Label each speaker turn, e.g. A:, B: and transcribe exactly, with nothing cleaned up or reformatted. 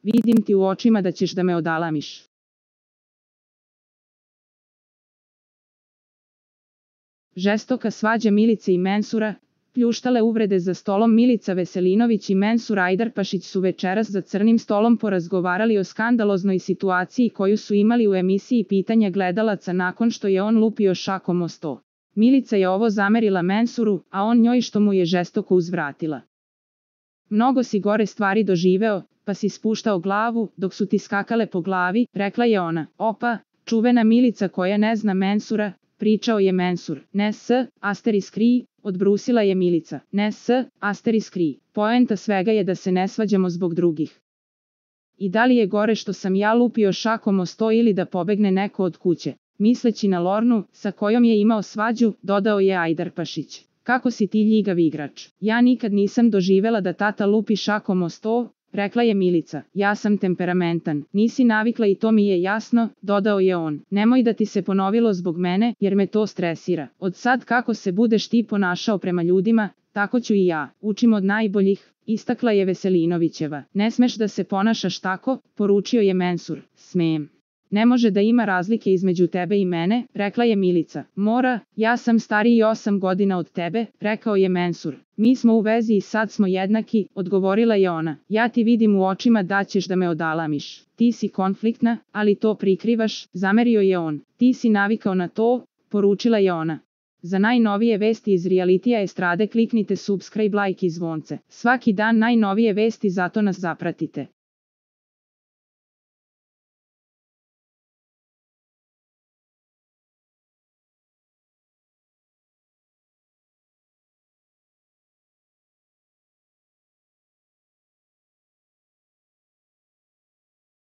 A: Vidim ti u očima da ćeš da me odalamiš. Žestoka svađa Milice i Mensura, pljuštale uvrede za stolom. Milica Veselinović i Mensur Ajdarpašić su večeras za crnim stolom porazgovarali o skandaloznoj situaciji koju su imali u emisiji Pitanja gledalaca nakon što je on lupio šakom o sto. Milica je ovo zamerila Mensuru, a on njoj što mu je žestoko uzvratila. Mnogo si gore stvari doživeo, pa si spuštao glavu, dok su ti skakale po glavi, rekla je ona. Opa, čuvena Milica koja ne zna Mensura, pričao je Mensur. Ne s, asteris kri, odbrusila je Milica. Ne s, asteris kri. Poenta svega je da se ne svađamo zbog drugih. I da li je gore što sam ja lupio šakom o sto ili da pobegne neko od kuće? Misleći na Lornu, sa kojom je imao svađu, dodao je Ajdarpašić. Kako si ti ljigav igrač? Ja nikad nisam doživela da tata lupi šakom o sto, rekla je Milica. Ja sam temperamentan, nisi navikla i to mi je jasno, dodao je on. Nemoj da ti se ponovilo zbog mene, jer me to stresira. Od sad kako se budeš ti ponašao prema ljudima, tako ću i ja. Učim od najboljih, istakla je Veselinovićeva. Ne smeš da se ponašaš tako, poručio je Mensur. Smem. Ne može da ima razlike između tebe i mene, rekla je Milica. Mora, ja sam stariji osam godina od tebe, rekao je Mensur. Mi smo u vezi i sad smo jednaki, odgovorila je ona. Ja ti vidim u očima da ćeš da me odalamiš. Ti si konfliktna, ali to prikrivaš, zamerio je on. Ti si navikao na to, poručila je ona. Za najnovije vesti iz realitija estrade kliknite subscribe, like i zvonce. Svaki dan najnovije vesti, zato nas zapratite.